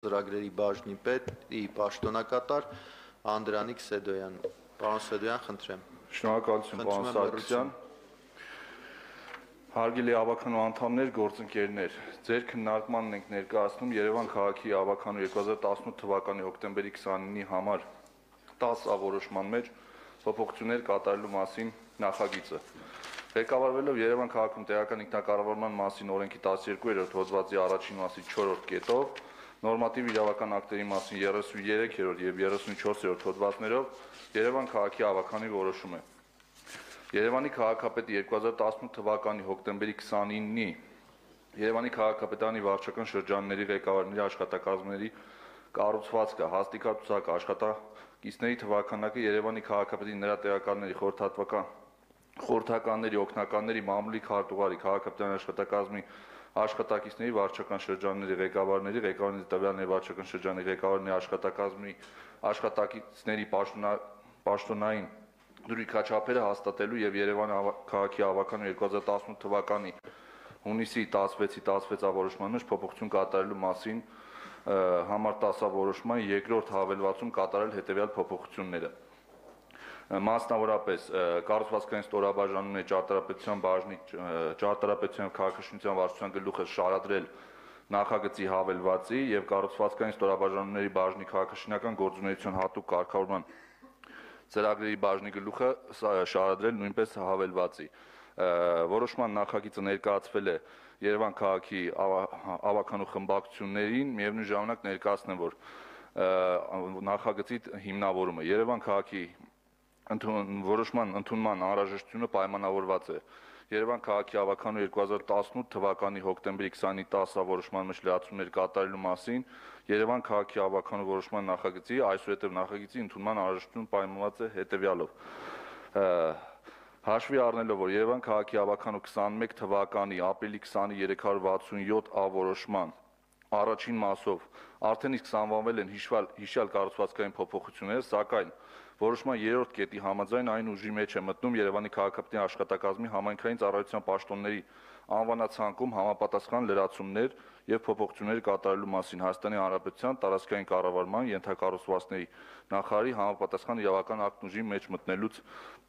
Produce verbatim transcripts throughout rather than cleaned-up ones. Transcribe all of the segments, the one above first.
ծրագրերի բաժնի պետի պաշտոնակատար Անդրանիկ Սեդոյան։ Պարոն Սեդոյան, խնդրեմ։ Շնորհակալություն, պարոն Սարգսյան։ Հարգելի ավականու անդամներ, գործընկերներ, ձեր քննարկմանն ենք ներկայացնում Երևան քաղաքի ավականու երկու հազար տասնութ թվականի հոկտեմբերի քսանինի համար տասը որոշման մեջ փոփոխություններ կատարելու մասին նախագիծը։ Ղեկավարվելով Երևան քաղաքում տեղական ինքնակառավարման մասին օրենքի տասներկուերորդ հոդվածի առաջին մասի չորրորդ կետով, նորմատիվ իրավական ակտերի մասին երեսուններեքերորդ և երեսունչորսերորդ հոդվածներով Երևան քաղաքի ավականի որոշում է։ Երևանի քաղաքապետի երկու հազար տասնութ թվականի հոկտեմբերի քսանինի Երևանի քաղաքապետարանի վարչական շրջանների ղեկավարների աշխատակազմների կառուցվածքը, հաստիքացուցակը, աշխատակիցների թվաքանակը Երևանի քաղաքապետի նրա տեղակալների խորհրդատվական խորհրդականների, օգնականների, մամուլի քարտուղարի, քաղաքապետարանի աշխատակազմի աշխատակիցների, վարչական շրջանների ղեկավարների, ղեկավարների տվյալների վարչական շրջանի ղեկավարների աշխատակազմի աշխատակիցների պաշտոնային դրույքաչափերը հաստատելու եւ Երևան քաղաքի ավականու երկու հազար տասնութ թվականի հունիսի տասվեցի տասվեցավորոշման մեջ փոփոխություն կատարելու մասին համար տասը որոշման երկրորդ հավելվածում կատարել հետեւյալ փոփոխությունները։ Մասնավորապես կառուցվածքային ստորաբաժանումների ճարտարապետության բաժնի ճարտարապետության եւ քաղաքաշինության վարչության գլուխը շարադրել նախագծի հավելվածի եւ կառուցվածքային ստորաբաժանումների բաժնի քաղաքաշինական գործունեության հատուկ կարգավորման ծրագրերի բաժնի գլուխը շարադրել նույնպես հավելվածի։ Որոշման նախագիծը ներկայացվել է Երևան քաղաքի ավականու խմբակցություններին, միևնույն ժամանակ ներկայացնեմ, որ նախագծի հիմնավորումը Երևան քաղաքի որոշման ընդունման անհրաժեշտությունը պայմանավորված է Երևան քաղաքի ավականու երկու հազար տասնութ թվականի հոկտեմբերի քսանինի տասը որոշման մեջ լրացումներ կատարելու մասին Երևան քաղաքի ավականու որոշման նախագծի այսուհետև նախագծի ընդունման անհրաժեշտությունը պայմանավորված է հետևյալով։ Հաշվի առնելով, որ Երևան քաղաքի ավականու քսանմեկ թվականի ապրիլի քսանի երեք հարյուր վաթսունյոթ ա որոշման առաջին մասով արդեն իսկ սահմանվել են հիշյալ կառուցվածքային փոփոխությունները, սակայն որոշման երրորդ կետի համաձայն այն ուժի մեջ է մտնում Երևանի քաղաքապետի աշխատակազմի համայնքային ծառայության պաշտոնների անվանացանկում համապատասխան լրացումներ եւ փոփոխություններ կատարելու մասին Հայաստանի Հանրապետության տարածքային կառավարման ենթակառուցվածքների նախարարի համապատասխան իրավական ակտ ուժի մեջ մտնելուց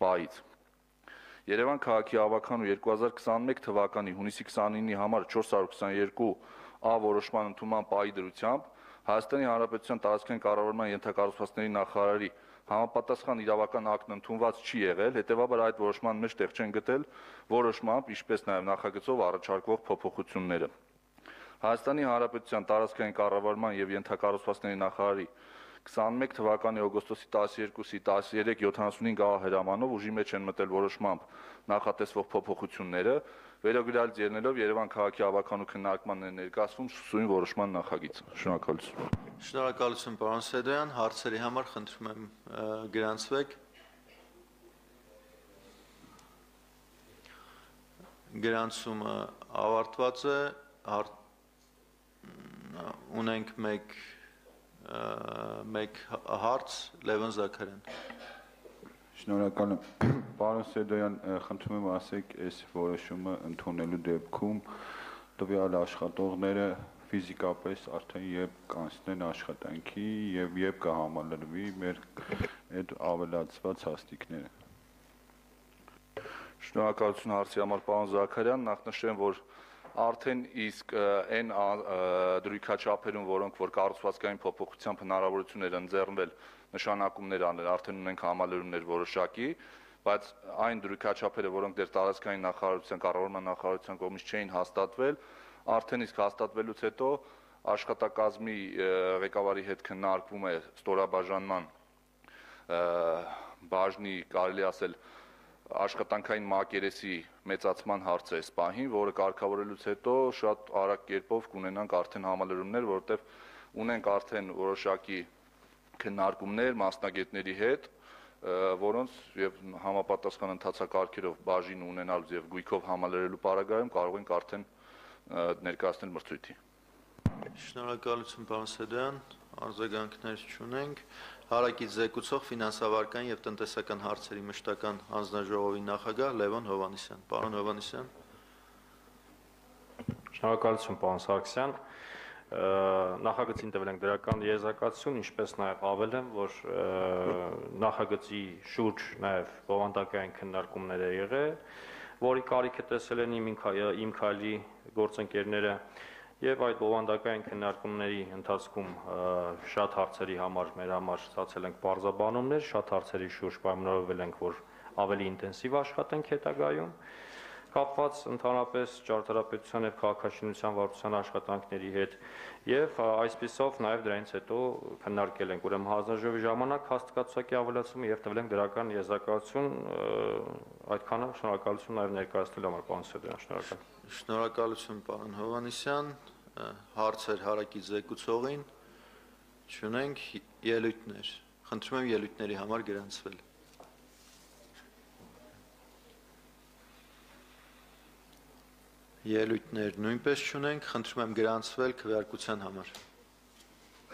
պահից։ Երևան քաղաքի ավականու երկու հազար քսանմեկ թվականի հունիսի քսանինի համար չորս հարյուր քսաներկու ա որոշման ընդունման պահի դրությամբ Հայաստանի Հանրապետության տարածքային կառավարման ենթակառուցվածքների նախարարի համապատասխան իրավական ակտն ընդունված չի եղել, հետևաբար այդ որոշման մեջ տեղ չեն գտել որոշմամբ, ինչպես նաև նախագծով առաջարկվող փոփոխությունները։ Հայաստանի Հանրապետության տարածքային կառավարման եւ ենթակառուցվածքների նախարարի քսանմեկ թվականի օգոստոսի տասներկուսի տասներեք յոթանասունհինգ ա հրամանով ուժի մեջ են մտել որոշմամբ նախատեսվող փոփոխությունները, վերոգրյալ ելնելով Երևան քաղաքի ավականու քննարկմանն է ներկայացվում սույն որոշման նախագիծը։ Շնորհակալություն։ Շնորհակալություն, պարոն Սեդոյան, հարցերի համար խնդրում եմ գրանցվեք։ Գրանցումը ավարտված է, ունենք մեկ մեկ հարց Լևոն Զաքարյան։ Շնորհակալ եմ, պարոն Սեդոյան, խնդրում եմ ասեք, այս որոշումը ընդունելու դեպքում տվյալ աշխատողները ֆիզիկապես արդեն երբ կանցնեն աշխատանքի եւ երբ կհամալրվի մեր այդ ավելացված հաստիկները։ Շնորհակալություն հարցի համար, պարոն Զաքարյան, նախնշեմ, որ արդեն իսկ այն դրույքաչափերում, որոնք որ կառուցվածքային փոփոխությամբ հնարավորություն էր ընձեռնել նշանակումներ անել, արդեն ունենք համալրումներ որոշակի, բայց այն դրույքաչափերը, որոնք դեռ տարածքային նախարարության, կառավարման նախարարության կողմից չէին հաստատվել, արդեն իսկ հաստատվելուց հետո աշխատակազմի ղեկավարի հետ քննարկվում է ստորաբաժանման բաժնի, կարելի ասել, աշխատանքային մակերեսի մեծացման հարցը այս պահին, որը կարգավորելուց հետո շատ արագ կերպով կունենանք արդեն համալրումներ, որովհետև ունենք արդեն որոշակի քննարկումներ մասնագետների հետ, որոնց եւ համապատասխան ընթացակարգերով բաժին ունենալուց եւ գույքով համալրելու պարագայում կարող ենք արդեն ներկայացնել մրցույթի։ Շնորհակալություն, պարոն Սեդոյան, արձագանքներ չունենք։ Հարակից զեկուցող ֆինանսավարական եւ տնտեսական հարցերի մշտական հանձնաժողովի նախագահ Լևոն Հովհաննիսյան։ Պարոն Հովհաննիսյան։ Շնորհակալություն, պարոն Սարգսյան։ նախագծին տվել ենք դրական եզրակացություն, ինչպես նաև ավելեմ, որ նախագծի շուրջ նաև բովանդակային քննարկումներ է եղել, որի կարիքը տեսել են իմ քայլի գործընկերները եւ այդ բովանդակային քննարկումների ընթացքում շատ հարցերի համար մեր համար ստացել ենք բարձաբանումներ, շատ հարցերի շուրջ պայմանավորվել ենք, որ ավելի ինտենսիվ աշխատենք հետագայում, կապված ընդհանրապես ճարտարապետության եւ քաղաքաշինության վարչության աշխատանքների հետ եւ այսպիսով նաեւ դրանից հետո քննարկել ենք ուրեմն հանձնաժողովի ժամանակ հաստատակցակի ավելացումը եւ տվել ենք դրական եզրակացություն այդքանը շնորհակալություն նաեւ ներկայացնելու համար պարոն Սեդոյան, շնորհակալ։ Շնորհակալություն պարոն Հովհաննիսյան, հարցեր հարակից զեկուցողին, չունենք ելույթներ, խնդրում եմ ելույթների համար գրանցվել։ Ելույթներ նույնպես չունենք, խնդրում եմ գրանցվել քվեարկության համար։